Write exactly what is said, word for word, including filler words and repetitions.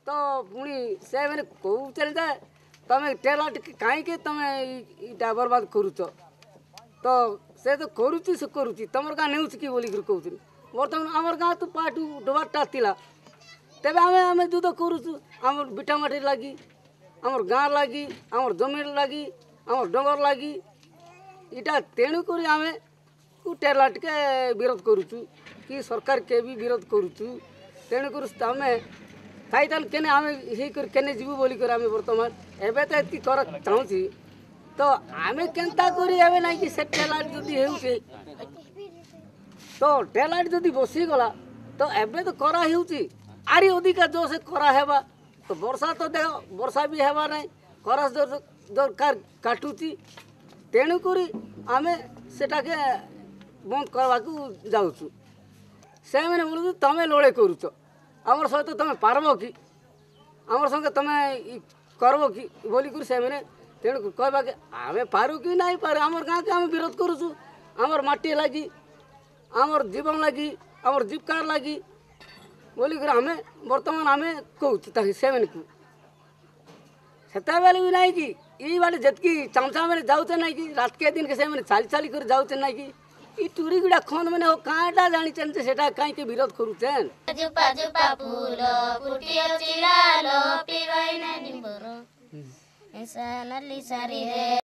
ତ ପୁଣି ସେମାନେ କହୁଛନ୍ତି ଯେ ତମେ ଟେଲର କାହିଁକି ତମେ ଇଟା ବର୍ବାଦ କରୁଛ? ତ ସେ ତ କରୁଛି, ସେ କରୁଛି, ତମର ଗାଁ ନେଉଛି କି ବୋଲିକରି କହୁଛନ୍ତି। ବର୍ତ୍ତମାନ ଆମର ଗାଁ ତ ପାଟୁ ଡବାରଟା ଥିଲା। ତେବେ ଆମେ ଆମେ ଯୁଦ୍ଧ କରୁଛୁ ଆମର ବିଟା ମାଟି ଲାଗି, ଆମର ଗାଁ ଲାଗି, ଆମର ଜମିର ଲାଗି, ଆମର ଡଙ୍ଗର ଲାଗି ଇଟା। ତେଣୁକରି ଆମେ ଟେଲା ଟିକେ ବିରୋଧ କରୁଛୁ କି ସରକାର କେ ବି ବିରୋଧ କରୁଛୁ। ତେଣୁକରି ଆମେ ଥାଇତାନ କେନେ ଆମେ ହେଇକରି କେନେ ଯିବୁ ବୋଲିକରି ଆମେ ବର୍ତ୍ତମାନ ଏବେ ତ ଏତିକି କର ଚାହୁଁଛି। ତ ଆମେ କେନ୍ତା କରି ଏବେ ନାଇଁ କି ସେ ଟେଲାଟ ଯଦି ହେଉଛି, ତ ଟେଲାଟ ଯଦି ବସିଗଲା, ତ ଏବେ ତ କରା ହେଉଛି, ଆରି ଅଧିକା ଜୋର ସେ କରା ହେବା। ତ ବର୍ଷା ତ ଦେହ ବର୍ଷା ବି ହେବା ନାହିଁ, ଖରା ଦରକାର କାଟୁଛି। ତେଣୁକରି ଆମେ ସେଟାକେ ବନ୍ଦ କରିବାକୁ ଯାଉଛୁ। ସେମାନେ ବୋଲୁଛୁ ତମେ ଲଢ଼େଇ କରୁଛ ଆମର ସହିତ, ତମେ ପାରବ କି, ଆମର ସଙ୍ଗେ ତମେ କରବ କି ବୋଲିକରି ସେମାନେ। ତେଣୁ କହିବା କି ଆମେ ପାରୁ କି ନାଇଁ ପାରୁ, ଆମର ଗାଁକେ ଆମେ ବିରୋଧ କରୁଛୁ ଆମର ମାଟି ଲାଗି, ଆମର ଜୀବନ ଲାଗି, ଆମର ଜୀବିକାର ଲାଗି ବୋଲିକରି ଆମେ ବର୍ତ୍ତମାନ ଆମେ କହୁଛୁ ତାকে ସେମାନଙ୍କୁ। ସେତେବେଳେ ବି ନାଇଁ କି ଏଇ ବାଟେ ଯେତିକି ଚାମଚା ମାନେ ଯାଉଛେ ନାଇଁ କି, ରାତିକେ ଦିନକେ ସେମାନେ ଚାଲି ଚାଲି କରି ଯାଉଛେ ନାଇଁ କି, ଇ ଟୁରି ଗୁଡ଼ା ଖନ୍ ମାନେ କାଁଟା ଜାଣିଛନ୍ ଯେ ସେଟା କାହିଁକି ବିରୋଧ କରୁଛନ୍? ଜୁପା ଜୁପା ଫୁଲ ଫୁଟିଅଛି ଲାଲ, ପିବାଇ ନାଲି ଶାଢ଼ୀରେ।